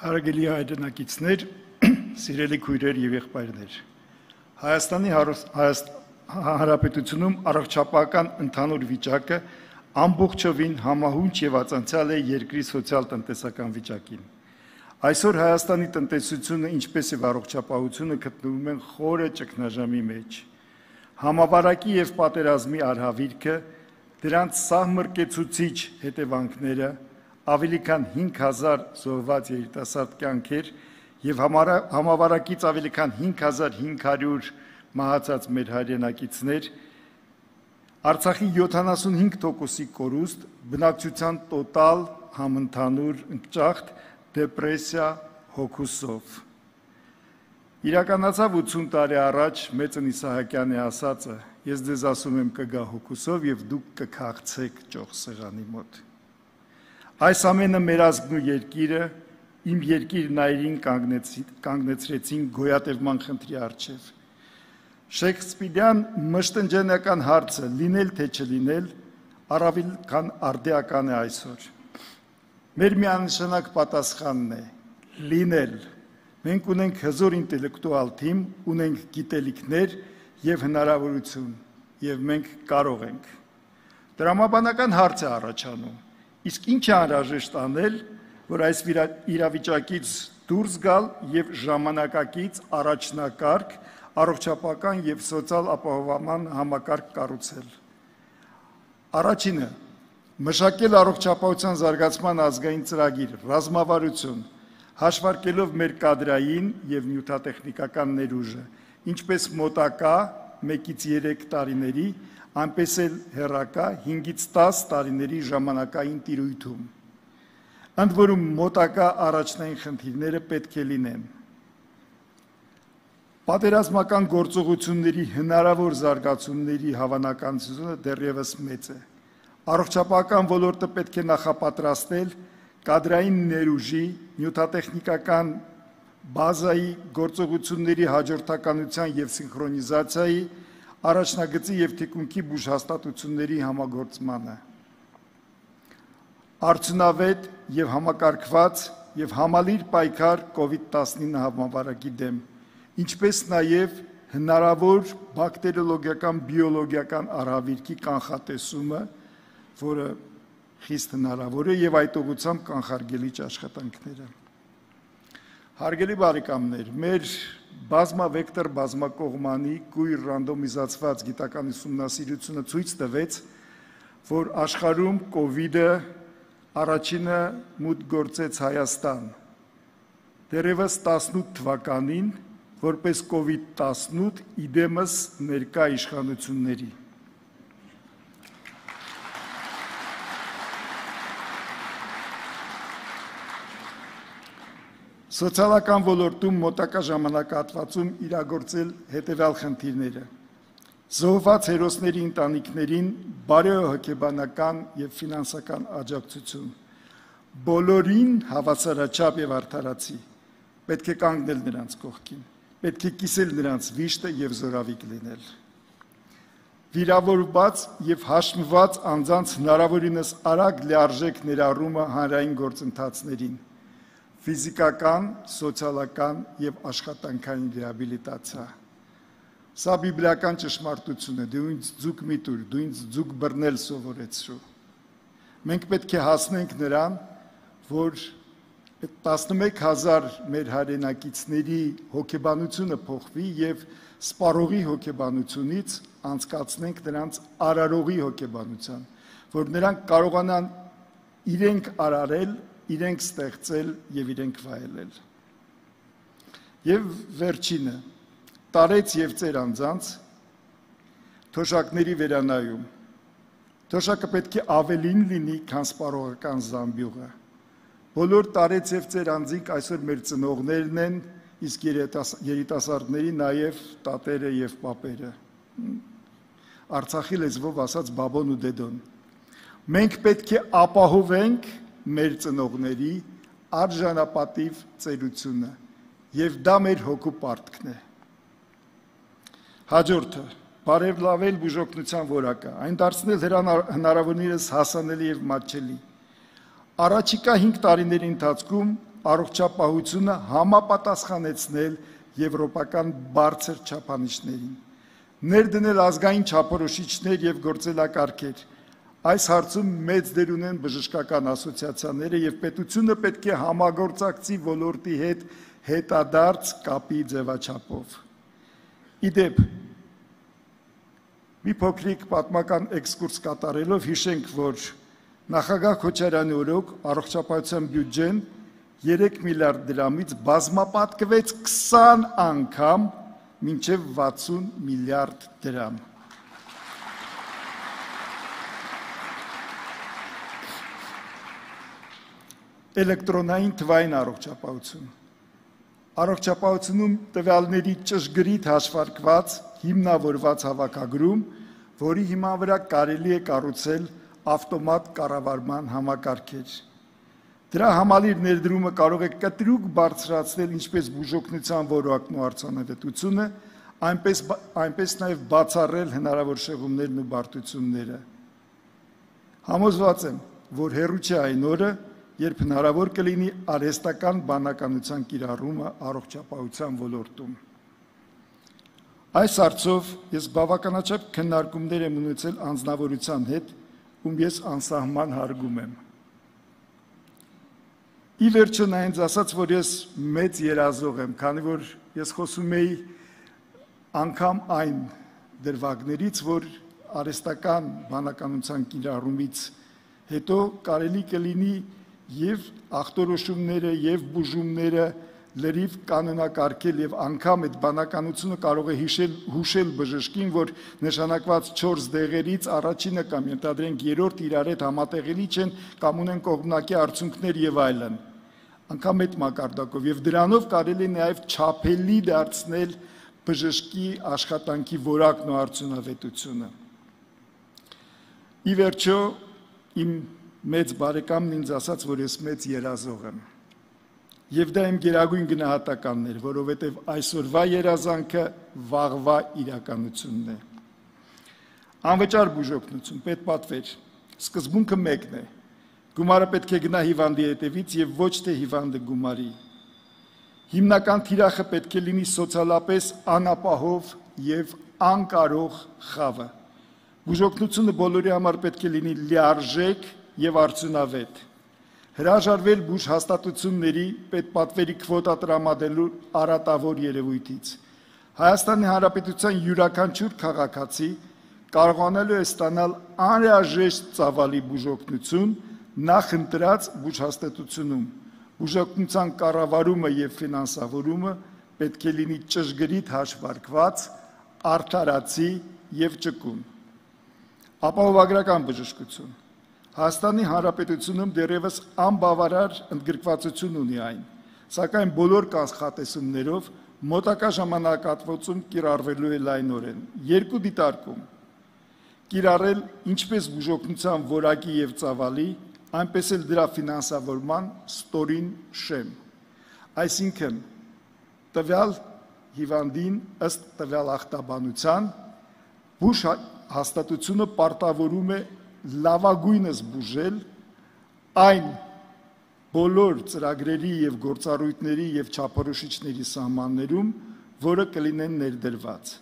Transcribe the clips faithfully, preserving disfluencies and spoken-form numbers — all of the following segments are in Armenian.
Հարգելի հայրենակիցներ, սիրելի քույրեր եւ եղբայրներ, Հայաստանի Հանրապետությունում առողջապահական ընդհանուր վիճակը ամբողջովին համահունչ եւ ածանցյալ է երկրի սոցիալ-տնտեսական վիճակին։ Այսօր Հայաստանի տնտեսությունը, ինչպես եւ առողջապահությունը գտնվում են խորը ճգնաժամի մեջ։ Համավարակի եւ պատերազմի արհավիրքը, դրանց սահմռկեցուցիչ հետևանքները, ավելի քան հինգ հազար զոհված երիտասարդ կյանքեր եւ համավարակից ավելի քան հինգ հազար հինգ հարյուր մահացած մեր հայրենակիցներ, Արցախի յոթանասունհինգ տոկոսի կորուստ, բնակչության տոտալ համընդհանուր ընկճախտ, դեպրեսիա, հոգուսով։ Իրականացավ ութսուն տարի առաջ Մեծն Իսահակյանի ասածը, ես ձեզ ասում եմ կգա հոգուսով եւ դուք կքաղցեք ճոխ սեղանի մոտ։ Այս ամենը մեր ազգն ու երկիրը, իմ երկիրն այրին կանգնեցրեցին գոյատևման խնդրի առջև։ Շեքսպիրյան մշտնջենական հարցը լինել թե չլինել, առավել քան արդիական է այսօր։ Մեր միանշանակ պատասխանն է լինել։ Մենք ունենք հզոր ինտելեկտուալ թիմ, ունենք գիտելիքներ եւ հնարավորություն, եւ մենք կարող ենք։ Տրամաբանական հարց է առաջանում։ Իսկ ինչ է անհրաժեշտ անել, որ այս իրավիճակից դուրս գալ եւ ժամանակակից առաջնակարգ առողջապահական եւ սոցիալ ապահովման համակարգ կառուցել։ Առաջինը՝ մշակել առողջապահության զարգացման ազգային ծրագիր, ռազմավարություն, հաշվարկելով մեր կադրային եւ նյութատեխնիկական ներուժը, ինչպես մոտակա մեկից երեք տարիների, այնպես էլ հեռակա հինգից տաս տարիների ժամանակային տիրույթում։ Ընդ որում մոտակա առաջնային խնդիրները պետք է լինեն։ Պատերազմական գործողությունների հնարավոր զարգացումների հավանականությունը դեռևս մեծ է։ Առողջապահական ոլորտը պետք է նախապատրաստել կադրային ներուժի, նյութատեխնիկական բազայի գործողությունների հաջորդականության եւ սինխրոնիզացիայի, առաջնագծի եւ թիկունքի բուժհաստատությունների համագործմանը։ Արդյունավետ եւ համակարգված եւ համալիր պայքար կովիդ տասնինը համավարակի դեմ, ինչպես նաեւ հնարավոր բակտերիոլոգիական, բիոլոգիական արհավիրքի կանխատեսումը, որը խիստ հնարավոր է եւ այդ ուղղությամբ կանխարգելիչ աշխատանքները։ Հարգելի բարեկամներ, մեր բազմավեկտոր բազմակողմանի կույր ռանդոմիզացված գիտական ուսումնասիրությունը ցույց տվեց, որ աշխարհում կովիդը առաջինը մուտք գործեց Հայաստան։ Դեռևս տասնութ թվականին, որպես կովիդ տասնութ իդեմս ներկա իշխանությունների։ Սոցիալական ոլորտում մոտակա ժամանակահատվածում իրագործել հետևյալ խնդիրները. զոհված հերոսների ընտանիքներին բարեհոգեբանական եւ ֆինանսական աջակցություն, բոլորին հավասարաչափ եւ արդարացի, պետք է կանգնել նրանց կողքին, պետք է կիսել նրանց վիշտը եւ զորավիք լինել։ Վիրավորված եւ հաշմված անձանց հնարավորինս արագ լիարժեք ներառումը հանրային գործընթացներին, ֆիզիկական, սոցիալական եւ աշխատանքային ռեաբիլիտացիա։ Սա բիբլիական ճշմարտություն է, դու ինձ ձուկ մի տուր, դու ինձ ձուկ բռնել սովորեցրու։ Մենք պետք է հասնենք նրան, որ տասնմեկ հազար մեր հայրենակիցների հոգեբանությունը փոխվի եւ սպառողի հոգեբանությունից անցկացնենք նրանց արարողի հոգեբանության, որ նրանք կարողանան իրենք արարել, իրենք ստեղծել եւ իրենք վայելել։ Եվ վերջինը, տարեց եւ ծեր անձանց թոշակների վերանայում։ Թոշակը պետք է ավելին լինի, քան սպառողական զամբյուղը։ Բոլոր տարեց եւ ծեր անձինք այսօր մեր ծնողներն են, իսկ երիտասարդների նաեւ տատերը եւ պապերը։ Արցախի լեզվով ասած բաբոն ու դեդոն։ Մենք պետք է ապահովենք մեր ծնողների արժանապատիվ ծերությունը եւ դա մեր հոգու պարտքն է։ Հաջորդը բարելավել բուժօգնության որակը, այն դարձնել հնարավորինս հասանելի եւ մատչելի։ Առաջիկա հինգ տարիների ընթացքում առողջապահությունը համապատասխանեցնել եվրոպական բարձր չափանիշներին, ներդնել ազգային չափորոշիչներ եւ գործելակարգեր։ Այս հարցում մեծ դեր ունեն բժշկական ասոցիացիաները եւ պետությունը պետք է համագործակցի ոլորտի հետ հետադարձ կապի ձևաչափով։ Իդեպ, մի փոքրիկ պատմական էքսկուրս կատարելով հիշենք, որ նախագահ Քոչարյանի օրոք առողջապահության բյուջեն երեք միլիարդ դրամից բազմապատկվեց քսան անգամ մինչև վաթսուն միլիարդ դրամ։ Էլեկտրոնային թվային առողջապահություն։ Առողջապահությունում տվյալների ճշգրիտ հաշվարկված, հիմնավորված հավաքագրում, որի հիման վրա կարելի է կառուցել ավտոմատ կառավարման համակարգեր։ Դրա համալիր ներդրումը կարող է կտրուկ բարձրացնել ինչպես բուժօգնության որակն ու արդյունավետությունը, այնպես, այնպես նաև բացառել հնարավոր շեղումներն ու բարդությունները։ Համոզված եմ, որ հեռու չէ այն օրը, երբ հնարավոր կլինի արհեստական բանականության կիրառումը առողջապահության ոլորտում։ Այս հարցով ես բավականաչափ քննարկումներ եմ ունեցել անձնավորության հետ, ում ես անսահման հարգում եմ։ Ի վերջո նա ինձ ասաց, որ ես մեծ երազող եմ, քանի որ ես խոսում էի անգամ այն դրվագներից, որ արհեստական բանականության կիրառումից հետո կարելի կլինի եւ ախտորոշումները եւ բուժումները լրիվ կանոնակարգել եւ անգամ այդ բանականությունը կարող է հիշել հուշել բժշկին, որ նշանակված չորս դեղերից առաջինը կամ ենթադրենք երրորդ իրար հետ համատեղելի չեն կամ ունեն կողմնակի արդյունքներ եւ այլն։ Անգամ այդ մակարդակով եւ դրանով կարելի է նաեւ չափելի դարձնել բժշկի աշխատանքի որակն ու արդյունավետությունը։ Ի վերջո իմ մեծ բարեկամն ինձ ասաց, որ ես մեծ երազող եմ։ Եվ դա իմ գերագույն գնահատականն էր, որովհետև այսօրվա երազանքը վաղվա իրականությունն է։ Անվճար բուժօգնություն, պետպատվեր, սկզբունքը մեկն է։ Գումարը պետք է գնա հիվանդի հետևից եւ ոչ թե հիվանդը գումարի։ Հիմնական թիրախը պետք է լինի սոցիալապես անապահով եւ անկարող խավը։ Բուժօգնությունը բոլորի համար պետք է լինի լիարժեք եւ արդյունավետ։ Հրաժարվել բուժ հաստատությունների պետպատվերի քվոտա տրամադրելու արատավոր երևույթից։ Հայաստանի Հանրապետության յուրաքանչյուր քաղաքացի կարողանալու է ստանալ անհրաժեշտ ծավալի բուժօգնություն նախընտրած բուժհաստատությունում։ Բուժօգնության կառավարումը եւ ֆինանսավորումը պետք է լինի ճշգրիտ հաշվարկված, արդարացի եւ ճկուն։ Ապահովագրական բժշկություն։ Հայաստանի Հանրապետությունում դեռևս անբավարար ընդգրկվածություն ունի այն, սակայն բոլոր կանխատեսումներով մոտակա ժամանակահատվածում կիրառվելու է լայնորեն։ Երկու դիտարկում. կիրառել ինչպես բուժօգնության որակի եւ ծավալի, այնպես էլ դրա ֆինանսավորման ստորին շեմ։ Այսինքն, տվյալ հիվանդին ըստ տվյալ ախտաբանության բուժ հաստատությունը պարտավորում է լավագույնս բուժել այն բոլոր ծրագրերի եւ գործառույթների եւ չափորոշիչների սահմաններում, որը կլինեն ներդրված։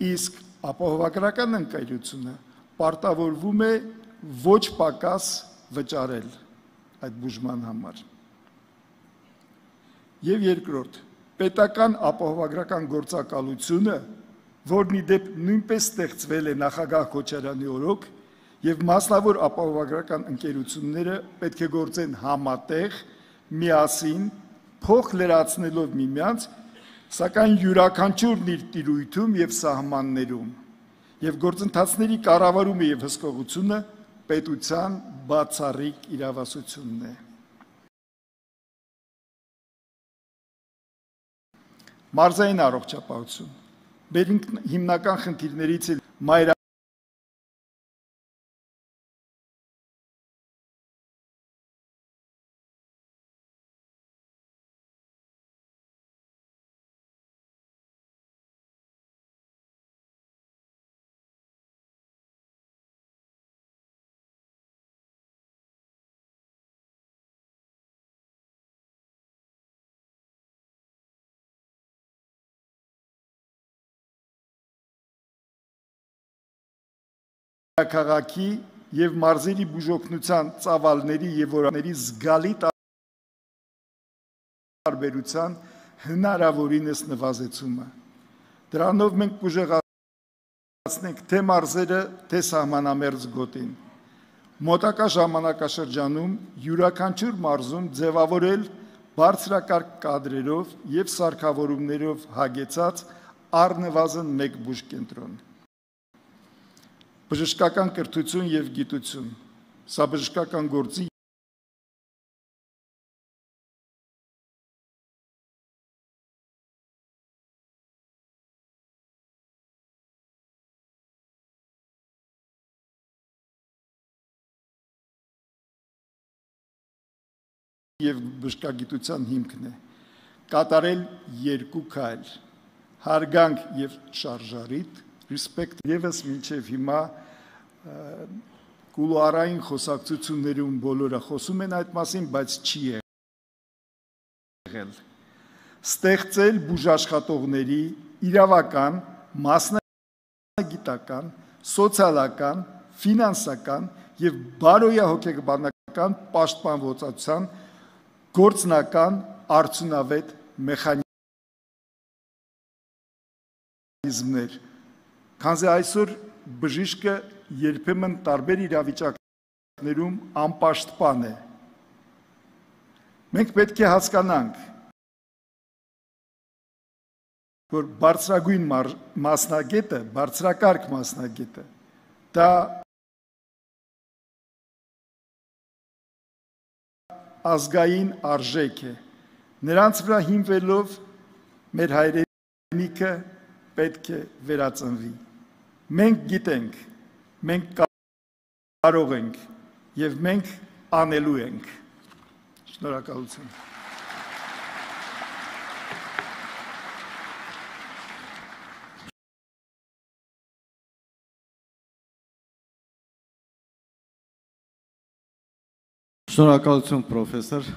Իսկ ապահովագրական ընկերությունը պարտավորվում է ոչ պակաս վճարել այդ բուժման համար։ Եվ երկրորդ, պետական ապահովագրական գործակալությունը, որն ի դեպ նույնպես ստեղծվել է նախագահ Քոչարյանի օրոք, եւ մասնավոր ապահովագրական ընկերությունները պետք է գործեն համատեղ, միասին, փոխ լրացնելով միմյանց, սակայն յուրաքանչյուրն իր տիրույթում եւ սահմաններում, եւ գործընթացների կառավարումը եւ հսկողությունը պետության բացառիկ իրավասությունն է։ Մարզային առողջապահություն։ Մեր հիմնական խնդիրներից է մայր քաղաքի եւ մարզերի բուժօգնության ծավալների եւ օրաների զգալի տարբերության հնարավորինս նվազեցումը։ Դրանով մենք կուժեղացնենք թե մարզերը, թե սահմանամերձ գոտին։ Մոտակա ժամանակաշրջանում յուրաքանչյուր մարզում ձևավորել բարձրակարգ կադրերով եւ սարքավորումներով հագեցած առնվազն մեկ բուժկենտրոն։ Բժշկական կրթություն եւ գիտություն։ Սա բժշկական գործի եւ բժշկագիտության հիմքն է։ Կատարել երկու քայլ՝ հարգանք եւ շարժարիտ, ռեսպեկտ եւս մինչև հիմա կուլուարային խոսակցություններում բոլորը խոսում են այդ մասին, բայց չի եղել։ Ստեղծել բուժաշխատողների իրավական, մասնագիտական, սոցիալական, ֆինանսական եւ բարոյահոգեբանական պաշտպանվածության գործնական արդյունավետ մեխանիզմներ, քանզի այսօր բժիշկը երբեմն տարբեր իրավիճակներում անպաշտպան է։ Մենք պետք է հասկանանք, որ բարձրագույն մասնագետը, բարձրակարգ մասնագետը, դա ազգային արժեք է։ Նրանց վրա հիմնվելով մեր հայրենիքը պետք է վերածնվի։ Մենք գիտենք, մենք կարող ենք եւ մենք անելու ենք։ Շնորհակալություն։ Շնորհակալություն, պրոֆեսոր։